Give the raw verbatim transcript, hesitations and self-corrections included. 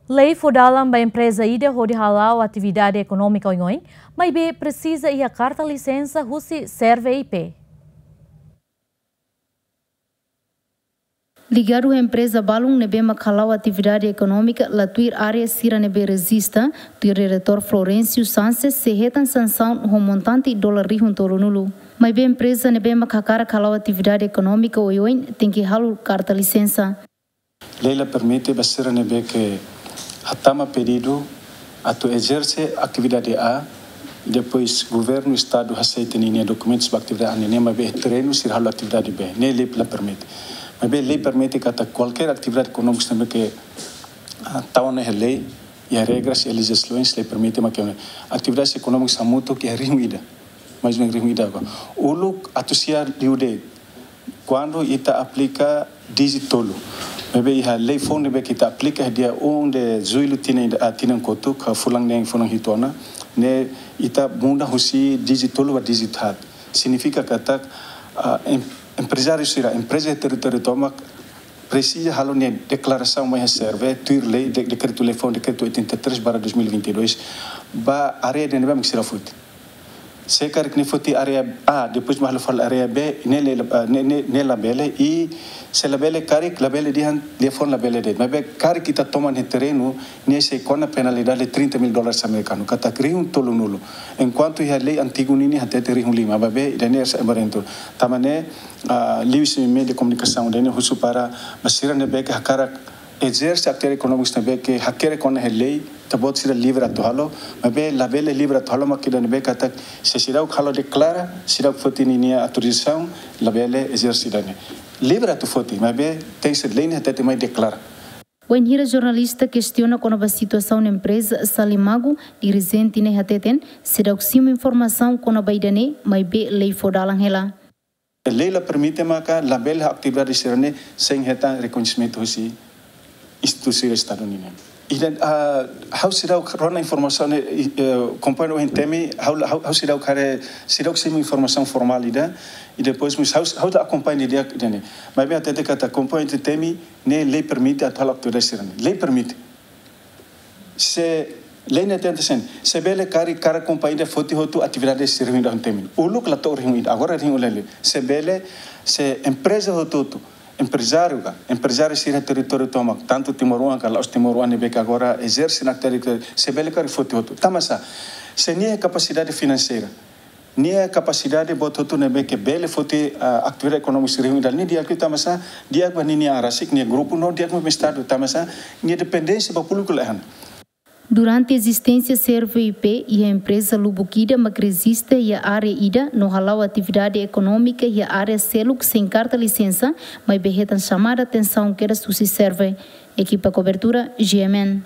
Lei fó dalan ba empreza ida hodi hala'o atividade ekonómika oioin, maibé presiza iha karta lisensa husi SERVE I P. Ligadu ho empreza balun ne'ebé mak hala'o atividade ekonómika la tuir área sira ne'ebé rejista, tuir Diretór Florencio Sanches sei hetan sansaun ho montante dolar rihun tolunulu. Maibé empreza ne'ebé mak hakarak hala'o atividade ekonómika oioin tenke halo karta lisensa. Lei la permite ba sira ne'ebé ke hatama pedidu atu ezerse atividade A, depois governu, estadu aseita ninia dokumentus ba atividade A ne'e, maibé terrenu sira halo atividade B. Ne'e lei la permite. Maibé lei permite katak kualkér atividade ekonómika ne'ebé ke, ah, tau ona iha lei, iha regras, iha lejizlasoens, lei permite, maibé atividade ekonómika hamutuk iha rihun ida. Mais ou menos rihun ida agora. Uluk atu siar liu de'it kuandu ita aplika díjitu tolu. Maibé iha lei foun ne'ebé ke ita aplika iha dia um de julho tinan ida, ah, tinan kotuk, ah, fulan neen, fulan hitu ona, ne'e ita muda husi díjitu tolu ba díjitu haat. Signifika katak, ah, em-, emprezáriu sira, empreza iha territóriu tomak presiza halo nia deklarasaun mai iha SERVE, tuir lei, de-, dekretu lei foun, dekretu oitenta e três barra dois mil e vinte e dois, ba área ida ne'ebé mak sira foti. Se karik nia foti área A, depois mak halo fali área B, ne'e la, ah, ne'e, ne'e, ne'e labele, i se labele karik, labele dehan, dehan foun labele de'it. Maibé karik ita toman iha terrenu, ne'e sei kona penalidade trinta mil dólares amerikanu, katak rihun tolunulu. Enkuantu iha lei antigu ninian hatete rihun lima, maibé ida-ne'e sai barentu. Tanba ne'e, ah, liu husi meiu de komunikasaun ida-ne'e husu para ba sira ne'ebé ke hakarak ezerse atividade ekonómika ne'ebé ke hakerek ona iha lei, ita-boot sira livre atu halo, maibé labele livre atu halo mak ida ne'ebé katak se seidauk halo deklara, seidauk foti ninia autorizasaun, labele ezerse ida-ne'e. Livre atu foti, maibé tenke ser lei ne'e hatete mai deklara. Wainhira jornalista kestiona kona-ba situasaun empreza Salimagu, dirijente ne'e hateten seidauk simu informasaun kona-ba ida-ne'e, maibé lei fó dalan hela. Lei la permite maka labele atividade sira-ne'e sein hetan rekoñesimentu husi instituisaun estadu nian. Ida, ah, ha'u seidauk rona informasaun ne'e, eh, kompañia ohin temi, ha'u, ha'u, ha'u seidauk haree, seidauk simu informasaun formál ida, i depois mós ha'u, ha'u la akompaña didi'ak ida-ne'e. Maibé hatete katak kompañia ohin temi, ne'e lei permite atu halo atividade sira-ne'e. Lei permite. Se lei ne'e hatete hanesan ne'e, se bele karik, karik kompañia ida foti hotu atividade sira rihun ida ho temi. Uluk la to'o rihun ida, agora rihun ida lele. Se bele, se empreza hotu-hotu, emprezáriu ka, emprezáriu sira territóriu tomak, tantu timoroan ka la'ós timoroan ne'ebé ke agora ezerse ona atividade, se bele karik foti hotu. Tanba sá, se nia kapasidade finanseira, nia kapasidade boot hotu ne'ebé ke bele foti, ah, atividade ekonómika sira rihun ida, nia di'ak liu tanba sá, di'ak ba ninia an rasik, nia grupu no di'ak ba estadu tanba sá, nia dependénsia ba públiku laiha ona. Durante ezisténsia SERVE I P, iha empreza lubuk ida mak rejista iha área ida no hala'o atividade ekonómika iha área seluk sein karta lisensa, maibé hetan xamada atensaun kedas husi SERVE. Ekipa kobertura, G M N.